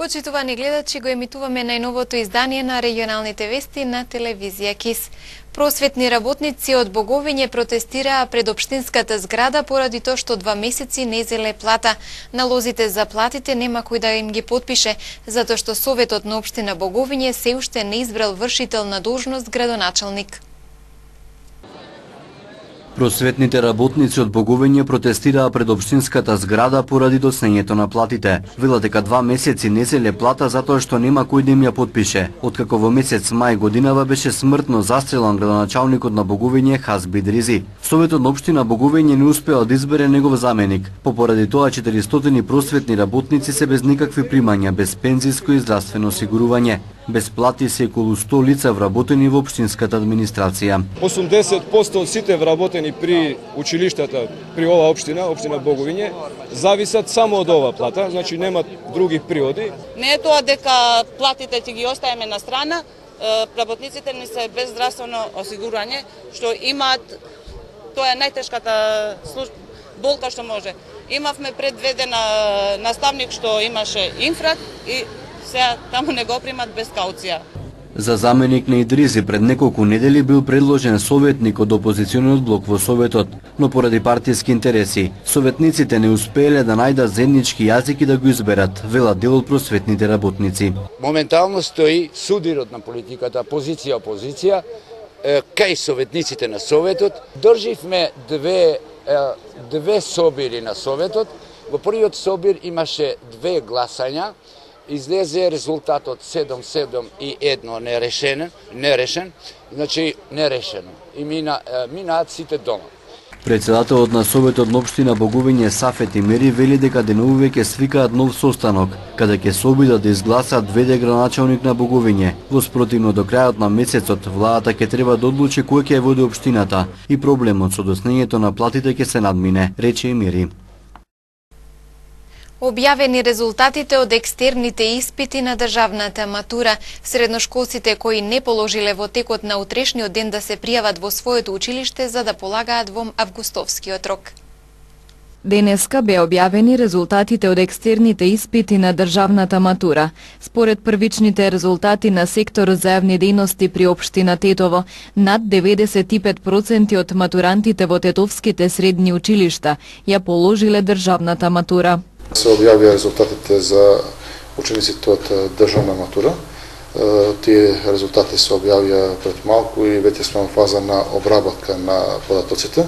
Почитувани гледачи, го емитуваме најновото издание на регионалните вести на телевизија КИС. Просветни работници од Боговиње протестираа пред општинската зграда поради тоа што 2 месеци не зеле плата. Налозите за платите нема кој да им ги потпише, затоа што Советот на општина Боговиње се уште не избрал вршител на должност градоначалник. Просветните работници од Боговиње протестираа пред општинската зграда поради доснењето на платите. Велат дека 2 месеци не зеле плата затоа што нема кој да им ја потпише. Откако во месец мај годинава беше смртно застрелан градоначалникот на Боговиње Хазби Дрези. Советот на општина Боговиње не успеа да избере негов заменик. Поради тоа 400 просветни работници се без никакви примања, без пензиско и здравствено осигурување. Без плати се околу 100 лица вработени во општинската администрација. 80% од сите вработени при училиштата при оваа општина, општина Боговиње, зависат само од оваа плата, значи немат други приоди. Не е тоа дека платите ќе ги оставиме на страна, работниците не се без здравствено осигурување, што имаат, тоа е најтешката болка што може. Имавме предведен наставник што имаше инфракт и сега таму не го примат без кауција. За заменик на Идризи пред неколку недели бил предложен советник од опозициониот блок во Советот, но поради партиски интереси, советниците не успееле да најдат заеднички јазик и да го изберат, велат дел од просветните работници. Моментално стои судирот на политиката, позиција-опозиција, кај советниците на Советот. Држивме две собири на Советот. Во првиот собир имаше 2 гласања. Излезе резултатот 7-7 и 1 нерешен, значи нерешено. И минаат сите дома. Председателот на Советот на општина Боговиње Сафет Имери вели дека деновиве ќе свикаат нов состанок, каде ќе се обидат да изгласат веде градоначалник на Боговиње. Во спротивно до крајот на месецот владата ќе треба да одлучи кој ќе ја води општината и проблемот со доснењето на платите ќе се надмине, рече Имери. Објавени резултатите од екстерните испити на државната матура. Средношколците кои не положиле во текот на утрешниот ден да се пријават во своето училиште за да полагаат во августовскиот рок. Денеска бе објавени резултатите од екстерните испити на државната матура. Според првичните резултати на секторот за јавни дејности при општина Тетово, над 95% од матурантите во тетовските средни училишта ја положиле државната матура. Се објавија резултатите за учениците од државна матура. Тие резултати се објавија пред малку и веќе сме во фаза на обработка на податоците.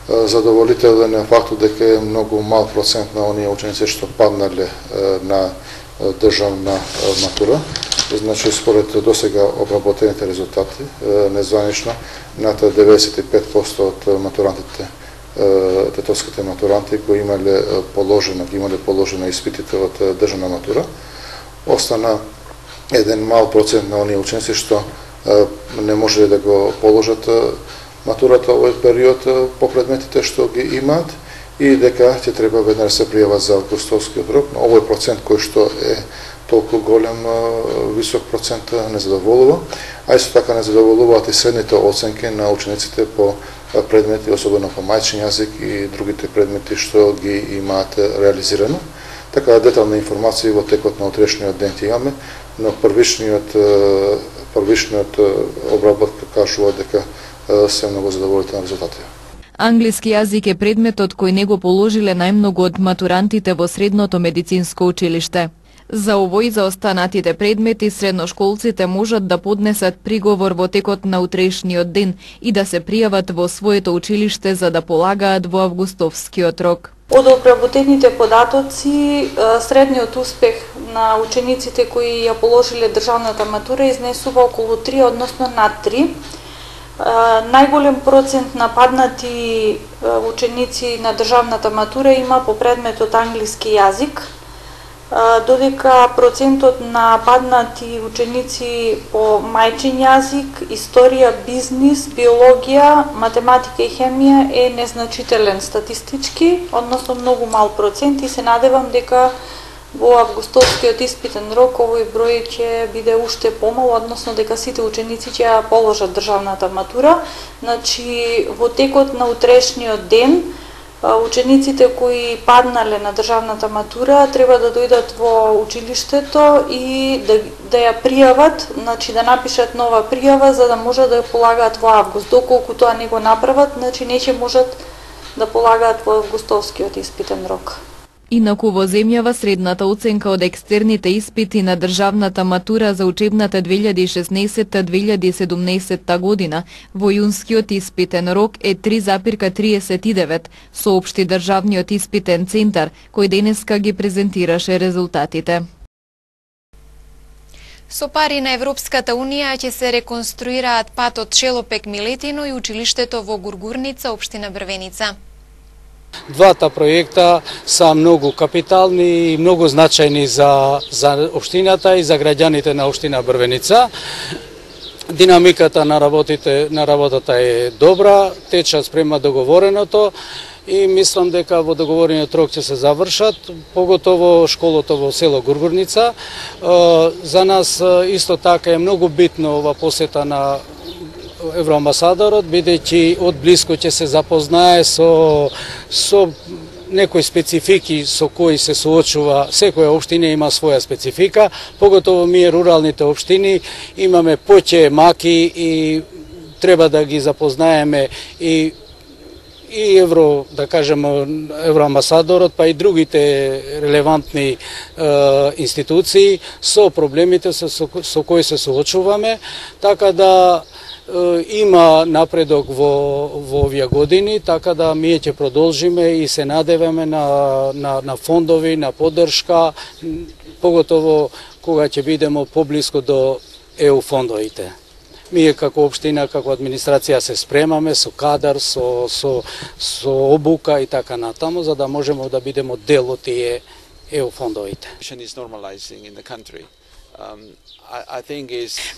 Задоволителен е фактот дека е многу мал процент на оние ученици што паднале на државна матура. Значи, според досега обработените резултати, незванично над 95% од матурантите, тетовските матуранти кои имале положено испитите од државна матура. Остана еден мал процент на оние ученици што не можеле да го положат матурата овој период по предметите што ги имаат и дека ќе треба веднаш се пријават за августовскиот рок. Но овој процент кој што е толку голем, висок процент не задоволува, а исто така не задоволуваат и средните оценки на учениците по предмети, особено по мајчин јазик и другите предмети што ги имаат реализирано. Така детална информација во текот на утрешниот ден ќе имаме, но првичниот обработка кажува дека се многу задоволителни резултати. Англиски јазик е предметот кој не го положиле најмногу од матурантите во средното медицинско училиште. За овој и за останатите предмети средношколците можат да поднесат приговор во текот на утрешниот ден и да се пријават во своето училиште за да полагаат во августовскиот рок. Од обработените податоци, средниот успех на учениците кои ја положиле државната матура изнесува околу 3, односно над 3. Најголем процент на паднати ученици на државната матура има по предметот англиски јазик, додека процентот на паднати ученици по мајчин јазик, историја, бизнис, биологија, математика и хемија е незначителен статистички, односно многу мал процент и се надевам дека во августовскиот испитен рок овој број ќе биде уште помал, односно дека сите ученици ќе ја положат државната матура. Значи, во текот на утрешниот ден учениците кои паднале на државната матура треба да дојдат во училиштето и да ја пријават, значи да напишат нова пријава за да можат да ја полагаат во август. Доколку тоа не го направат, значи не ќе можат да полагаат во августовскиот испитен рок. Инаку во земјава средната оценка од екстерните испити на државната матура за учебната 2016-2017 година во јунскиот испитен рок е 3,39, соопшти државниот испитен центар, кој денеска ги презентираше резултатите. Со пари на Европската Унија ќе се реконструираат патот Шелопек-Милетино и училиштето во Гургурница, општина Брвеница. Двата проекта са многу капитални и многу значајни за општината и за граѓаните на општина Брвеница. Динамиката на работата е добра, тече спрема договореното и мислам дека во договорениот рок ќе се завршат, поготово школото во село Гургурница. За нас исто така е многу битно ова посета на евроамбасадорот, бидејќи од блиско ќе се запознае со некои специфики со кои се соочува. Секоја општина има своја специфика, поготово ние руралните општини имаме поќе маки и треба да ги запознаеме и евроамбасадорот, па и другите релевантни институции со проблемите со кои се соочуваме, така да има напредок во овие години, така да ние ќе продолжиме и се надеваме на фондови, на поддршка, поготово кога ќе бидеме поблиско до ЕУ фондовите. Ние како општина, како администрација се спремаме со кадар, со обука и така натаму, за да можеме да бидеме дел од тие ЕУ фондовите.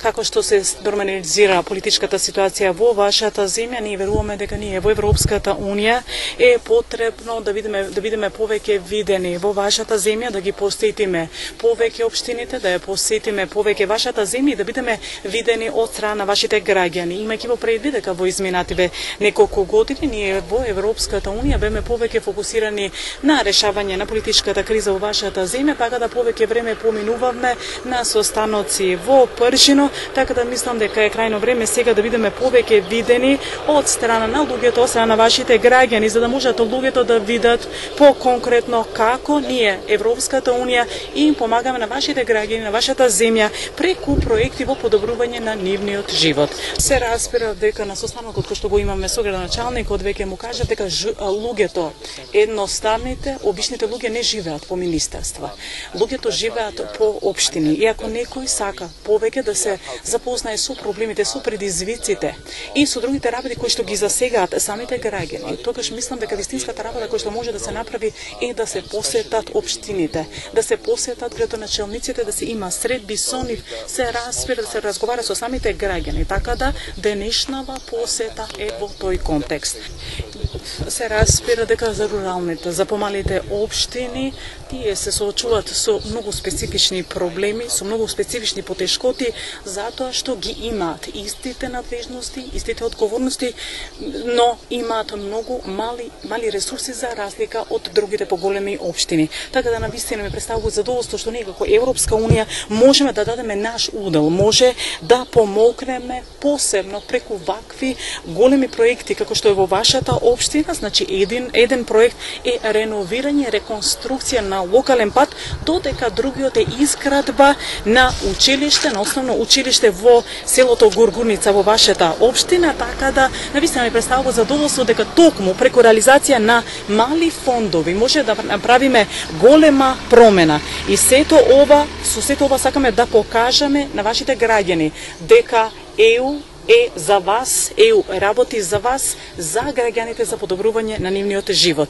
Како што се нормализира политичката ситуација во вашата земја, ние веруваме дека ние во Европската Унија е потребно да бидеме повеќе видени во вашата земја, да ги посетиме повеќе општините, да ја посетиме повеќе вашата земја и да бидеме видени од страна на вашите граѓани. Имајќи во предвид дека во изминативе неколку години ние во Европската Унија беме повеќе фокусирани на решавање на политичката криза во вашата земја, така да повеќе време поминувавме на состаноци во Пршино, така да мислам дека е крајно време сега да бидеме повеќе видени од страна на луѓето, од страна на вашите граѓани, за да можат луѓето да видат по-конкретно како ние, Европската Унија, им помагаме на вашите граѓани, на вашата земја, преку проекти во подобрување на нивниот живот. Се разбира дека на состанокот кој што го имаме со градоначалникот веќе му кажа дека луѓето, едноставните, обичните луѓе не живеат по министерства. Луѓето живеат по општини. И ако некој сака повеќе да се запознае со проблемите, со предизвиците и со другите работи кои што ги засегаат самите граѓани, тогаш мислам дека вистинската работа која што може да се направи е да се посетат општините, да се посетат градоначалниците, да се има средби со нив, се разбира, да се разговара со самите граѓани, така да денешнава посета е во тој контекст. Се разбира дека за руралните, за помалите општини, тие се соочуваат со многу специфични проблеми, со многу специфични потешкоти, затоа што ги имаат истите надвежности, истите одговорности, но имаат многу мали ресурси за разлика од другите поголеми општини. Така да навистина ми представува задоволство што ние како Европска Унија можеме да дадеме наш удел, може да помогнеме посебно преку вакви големи проекти како што е во вашата општина. Значи еден проект е реновирање, реконструкција на локален пат, додека другиот е изградба на училиште, на основно училиште во селото Гургурница во вашата општина, така да навистина ми представува задоволство дека токму преку реализација на мали фондови може да направиме голема промена. И сето ова сакаме да покажеме на вашите граѓани дека ЕУ е за вас, ЕУ работи за вас, за граѓаните, за подобрување на нивниот живот.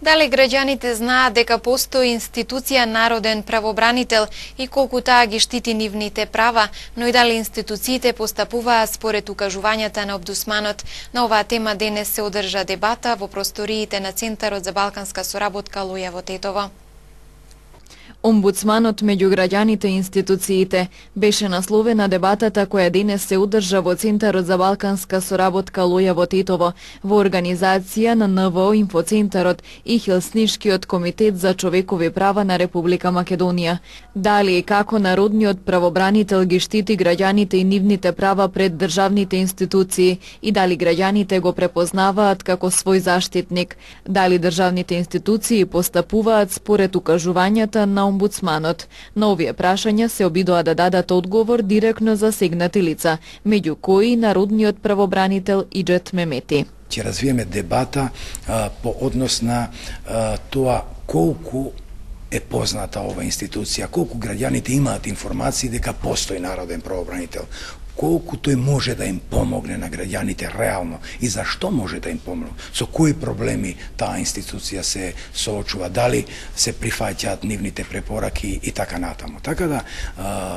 Дали граѓаните знаат дека постои институција Народен правобранител и колку таа ги штити нивните права, но и дали институциите постапуваат според укажувањата на омбудсманот? На оваа тема денес се одржа дебата во просториите на Центарот за балканска соработка Лујево Тетово. Омбудсманот меѓу граѓаните и институциите беше насловена дебатата која денес се одржа во Центарот за балканска соработка Лоја во Тетово во организација на НВО Инфоцентарот и Хелснишкиот комитет за човекови права на Република Македонија. Дали и како народниот правобранител ги штити граѓаните и нивните права пред државните институции и дали граѓаните го препознаваат како свој заштитник, дали државните институции постапуваат според укажувањата на омбудсманот. На овие прашања се обидоа да дадат одговор директно засегнати лица, меѓу кои народниот правобранител Иџет Мемети. Ќе развиеме дебата по однос на тоа колку е позната ова институција, колку граѓаните имаат информации дека постои народен правобранител, колку тој може да им помогне на граѓаните реално и зашто може да им помогне, со кои проблеми таа институција се соочува, дали се прифаќаат нивните препораки и така натаму. Така да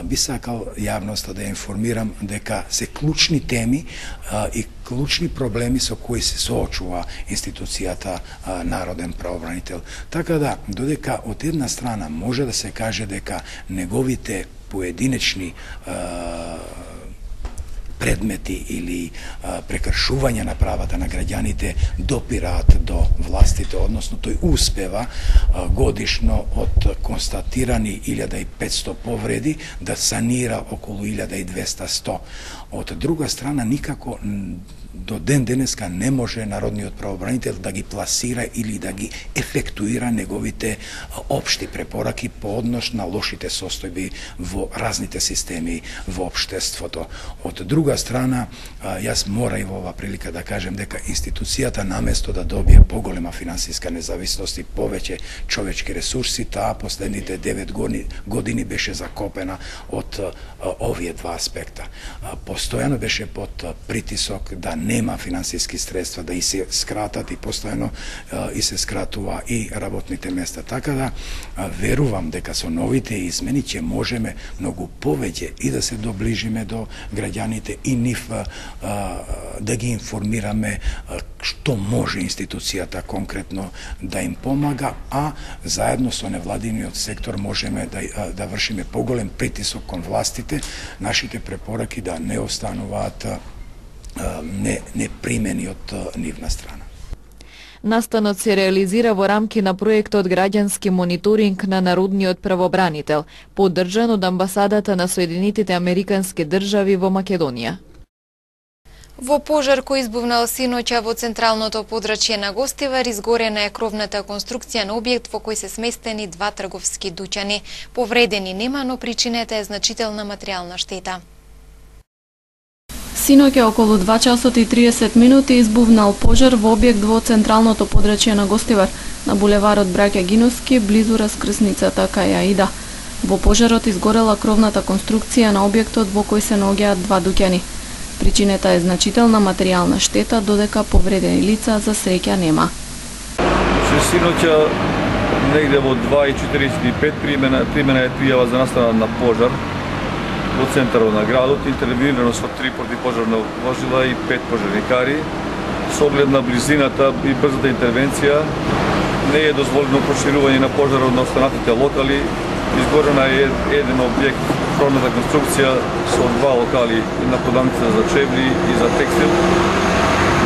би сакал јавноста да ја информирам дека се клучни теми и клучни проблеми со кои се соочува институцијата народен правобранител. Така да, додека од една страна може да се каже дека неговите поединечни предмети или прекршување на правата на граѓаните допираат до властите, односно тој успева годишно од констатирани 1500 повреди да санира околу 1200-100. Од друга страна, никако до ден денеска не може народниот правобранител да ги пласира или да ги ефектуира неговите општи препораки по однос на лошите состојби во разните системи во општеството. Од друга страна, јас мора и во ова прилика да кажем дека институцијата наместо да добие поголема финансиска независност и повеќе човечки ресурси, таа последните 9 години беше закопена од овие два аспекта. Постојано беше под притисок да нема финансиски средства, да и се скратат и постојано и се скратува и работните места. Така да верувам дека со новите измени ќе можеме многу повеќе и да се доближиме до граѓаните и нив да ги информираме што може институцијата конкретно да им помага, а заедно со невладиниот сектор можеме да вршиме поголем притисок кон властите, нашите препораки да не остануваат непримени од нивна страна. Настанот се реализира во рамки на проектот Граѓански мониторинг на народниот правобранител, поддржан од амбасадата на Соединетите Американски држави во Македонија. Во пожар кој избувнал синоќа во централното подрачје на Гостивар, изгорена е кровната конструкција на објект во кој се сместени 2 трговски дуќани. Повредени нема, но причината е значителна материјална штета. Синоќа околу 2 часот и 30 минути избувнал пожар во објект во централното подрачје на Гостивар, на булеварот Браќа Гиновски, близу раскрсницата кај Аида. Во пожарот изгорела кровната конструкција на објектот во кој се наоѓаат 2 дуќани. Причината е значителна материјална штета, додека повредени лица за среќа нема. Синоќа негде во 2:45 примена е пријава за настана на пожар во центарот на градот, интервенирано со 3 противпожарни возила и 5 пожарникари. Со оглед на близината и брзата интервенција не е дозволено проширување на пожарот на останатите локали. Изгорена е еден објект, кровната конструкција со 2 локали на продавница за чевли и за текстил.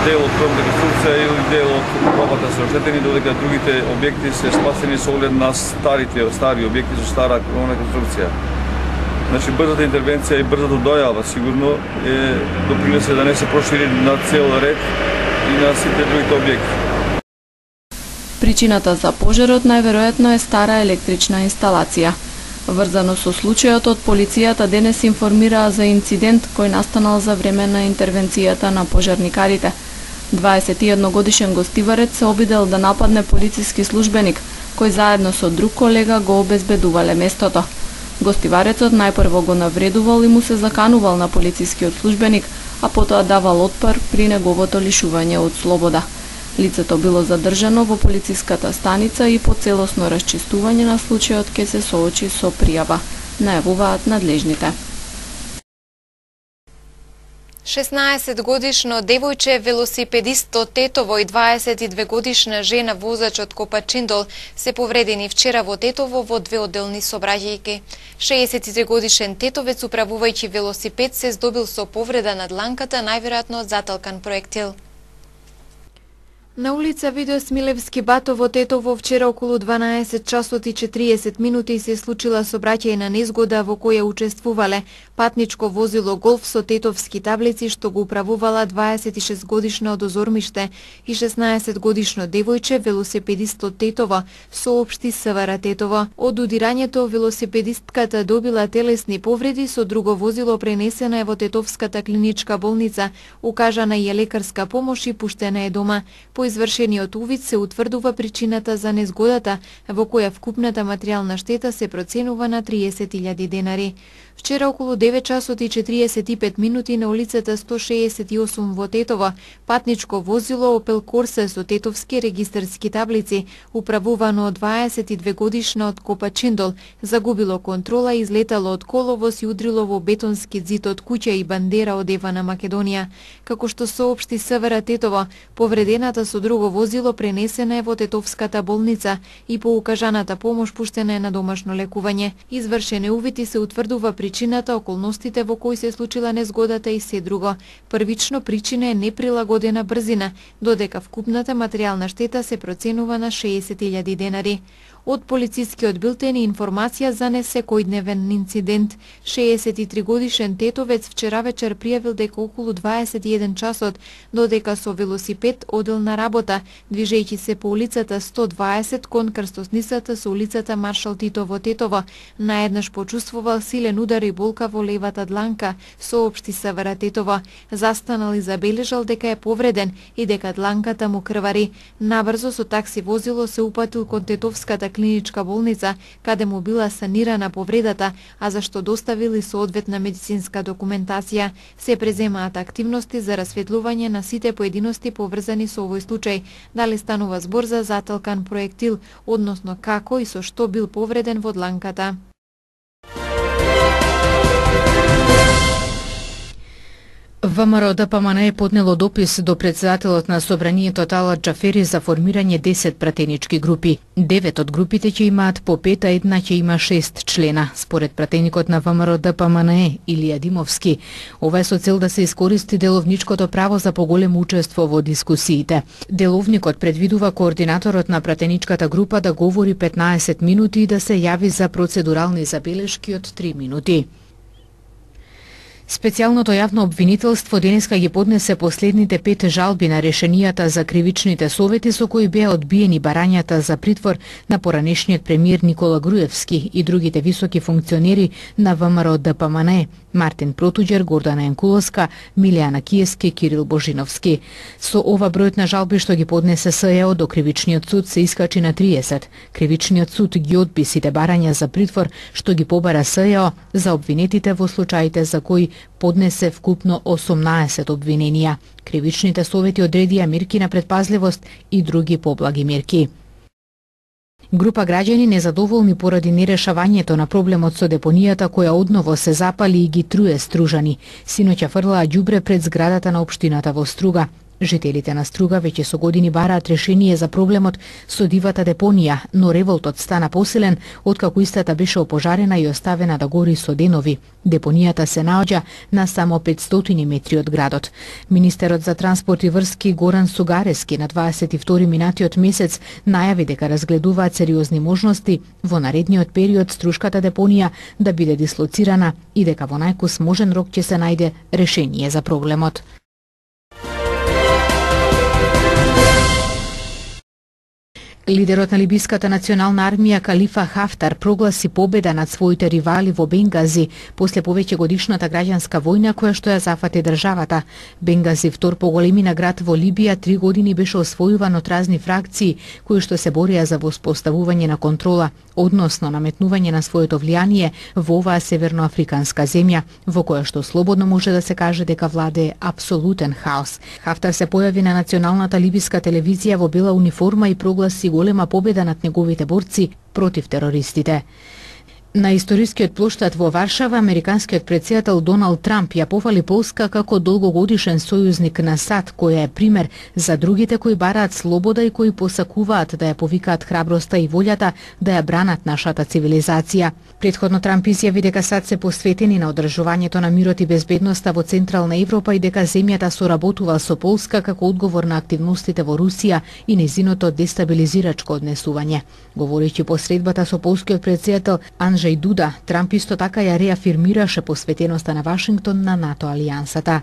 Дел од кровната конструкција или дел од робата се оштетени, додека другите објекти се спасени со оглед на стари објекти со стара кровна конструкција. Значи, брзата интервенција и брзата дојава сигурно допринесе да не се прошири на цел ред и на сите другите објекти. Причината за пожарот најверојатно е стара електрична инсталација. Врзано со случајот, од полицијата денес информираа за инцидент кој настанал за време на интервенцијата на пожарникарите. 21-годишен гостиварец се обидел да нападне полициски службеник, кој заедно со друг колега го обезбедувале местото. Гостиварецот најпрво го навредувал и му се заканувал на полицискиот службеник, а потоа давал отпор при неговото лишување од слобода. Лицето било задржано во полициската станица и по целосно расчистување на случајот ќе се соочи со пријава, најавуваат надлежните. 16-годишно девојче велосипедист од Тетово и 22-годишна жена возач од Копачиндол се повредени вчера во Тетово во две одделни сообраќајки. 63-годишен тетовец управувајќи велосипед се здобил со повреда на дланката, најверојатно од заталкан проектил. На улица Видо Смилевски Бато во Тетово вчера околу 12 часот и 40 минути се случила сообраќајна незгода во која учествувале патничко возило Голф со тетовски таблици што го управувала 26-годишна од Озормиште и 16-годишно девојче велосипедист од Тетово, соопшти СВР Тетово. Од удирањето велосипедистката добила телесни повреди, со друго возило пренесена е во Тетовската клиничка болница, укажана е лекарска помош и пуштена е дома. По извршениот увид се утврдува причината за незгодата, во која вкупната материјална штета се проценува на 30.000 денари. Вчера околу 9 часот и 45 минути на улицата 168 во Тетово, патничко возило Opel Corsa со тетовски регистарски таблици, управувано од 22-годишна од Копачиндол, загубило контрола и излетало од коловоз и удрило во бетонски зид од куќа и бандера од Ева на Македонија. Како што соопшти СВР Тетово, повредената со друго возило пренесена е во Тетовската болница и по укажаната помош пуштена е на домашно лекување. Извршен е увид и се утврдува причината, околностите во кои се случила незгодата и се друго. Првично причина е неприлагодена брзина, додека вкупната материјална штета се проценува на 60.000 денари. Од полицискиот билтен и информација за несекојдневен инцидент. 63-годишен тетовец вчера вечер пријавил дека околу 21 часот, додека со велосипед одел на работа, движејќи се по улицата 120 кон крстосницата со улицата Маршал Тито во Тетово, наеднаш почувствувал силен удар и болка во левата дланка, соопшти СВР Тетово. Застанал и забележал дека е повреден и дека дланката му крвари. Набрзо со такси возило се упатил кон Тетовската клиничка болница, каде му била санирана повредата, а зашто доставил и соодветна медицинска документација. Се преземаат активности за расветлување на сите поединости поврзани со овој случај, дали станува збор за заталкан проектил, односно како и со што бил повреден во дланката. ВМРО ДПМН е поднело допис до председателот на Собранието Талат Џафери за формирање 10 пратенички групи. 9 од групите ќе имаат по 5, а една ќе има 6 члена. Според пратеникот на ВМРО ДПМН Илија Димовски, ова е со цел да се искористи деловничкото право за поголемо учество во дискусиите. Деловникот предвидува координаторот на пратеничката група да говори 15 минути и да се јави за процедурални забелешки од 3 минути. Специјалното јавно обвинителство денеска ги поднесе последните 5 жалби на решенијата за кривичните совети со кои беа одбиени барањата за притвор на поранешниот премиер Никола Груевски и другите високи функционери на ВМРО ДПМН, Мартин Протуѓер, Гордана Јанкуловска, Милијана Киески, Кирил Божиновски. Со ова бројот на жалби што ги поднесе СЈО до кривичниот суд се искачи на 30. Кривичниот суд ги одби сите барања за притвор што ги побара СЈО за обвинетите во случаите за кои поднесе вкупно 18 обвиненија. Кривичните совети одредија мерки на предпазливост и други поблаги мерки. Група граѓани незадоволни поради нерешавањето на проблемот со депонијата која одново се запали и ги труе Стружани. Синоќа фрлаа ѓубре пред зградата на општината во Струга. Жителите на Струга веќе со години бараат решение за проблемот со дивата депонија, но револтот стана посилен откако истата беше опожарена и оставена да гори со денови. Депонијата се наоѓа на само 500 метри од градот. Министерот за транспорт и врски Горан Сугарески на 22 минатиот месец најави дека разгледуваат сериозни можности во наредниот период Струшката депонија да биде дислоцирана и дека во најкус можен рок ќе се најде решение за проблемот. Лидерот на либиската национална армија Калифа Хафтар прогласи победа над своите ривали во Бенгази после повеќе годишната граѓанска војна која што ја зафати државата. Бенгази, втор по големина град во Либија, 3 години беше освојуван од разни фракции кои што се борија за воспоставување на контрола, односно наметнување на своето влијание во оваа северноафриканска земја, во која што слободно може да се каже дека владее апсолутен хаос. Хафтар се појави на националната либиска телевизија во бела униформа и прогласи голема победа над неговите борци против терористите. На историскиот плоштад во Варшава, американскиот претседател Доналд Трамп ја пофали Полска како долгогодишен сојузник на САД, која е пример за другите кои бараат слобода и кои посакуваат да ја повикаат храброста и волјата да ја бранат нашата цивилизација. Претходно Трамп изјави дека САД се посветени на одржувањето на мирот и безбедноста во Централна Европа и дека земјата соработува со Полска како одговор на активностите во Русија и нејзиното дестабилизирачко однесување. Говорејќи по средбата со полскиот претседател Анджеј Дуда, Трамп исто така ја реафирмираше посветеноста на Вашингтон на НАТО алијансата.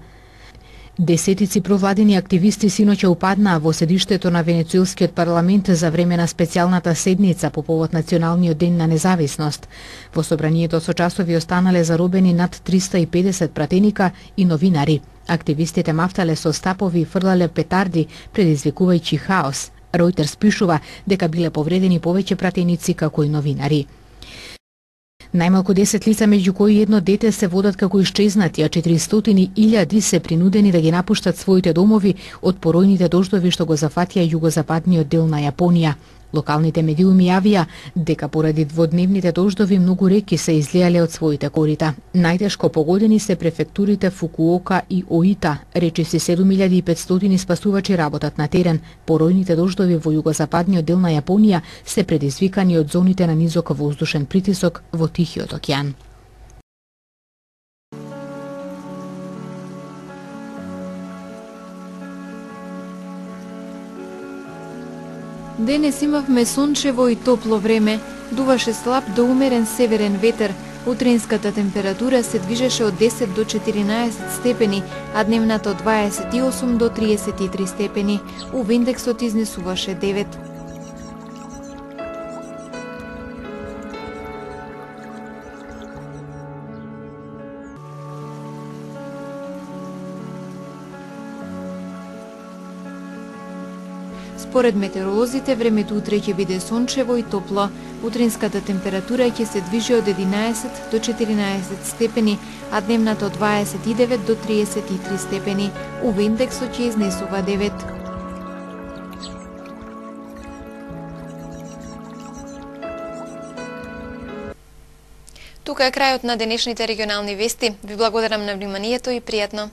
Десетици провладени активисти синоќа упаднаа во седиштето на Венецуелскиот парламент за време на специјалната седница по повод Националниот ден на независност. Во собранието со часови останале заробени над 350 пратеника и новинари. Активистите мафтале со стапови и фрлале петарди, предизвикувајќи хаос. Ројтерс пишува дека биле повредени повеќе пратеници како и новинари. Најмалку 10 лица, меѓу кои едно дете, се водат како исчезнати, а 400.000 се принудени да ги напуштат своите домови од поројните дождови што го зафатија југозападниот дел на Јапонија. Локалните медиуми јавија дека поради дводневните дождови многу реки се излијале од своите корита. Најтешко погодени се префектурите Фукуока и Оита. Речиси 7500 спасувачи работат на терен. Поројните дождови во југозападниот дел на Јапонија се предизвикани од зоните на низок воздушен притисок во Тихиот океан. Денес имавме сончево и топло време, дуваше слаб до умерен северен ветер. Утринската температура се движеше од 10 до 14 степени, а дневната од 28 до 33 степени. УВ индексот изнесуваше 9. Според метеоролозите, времето утре ќе биде сончево и топло. Утринската температура ќе се движи од 11 до 14 степени, а дневната од 29 до 33 степени. УВ индексот ќе изнесува 9. Тука е крајот на денешните регионални вести. Ви благодарам на вниманието и пријатно.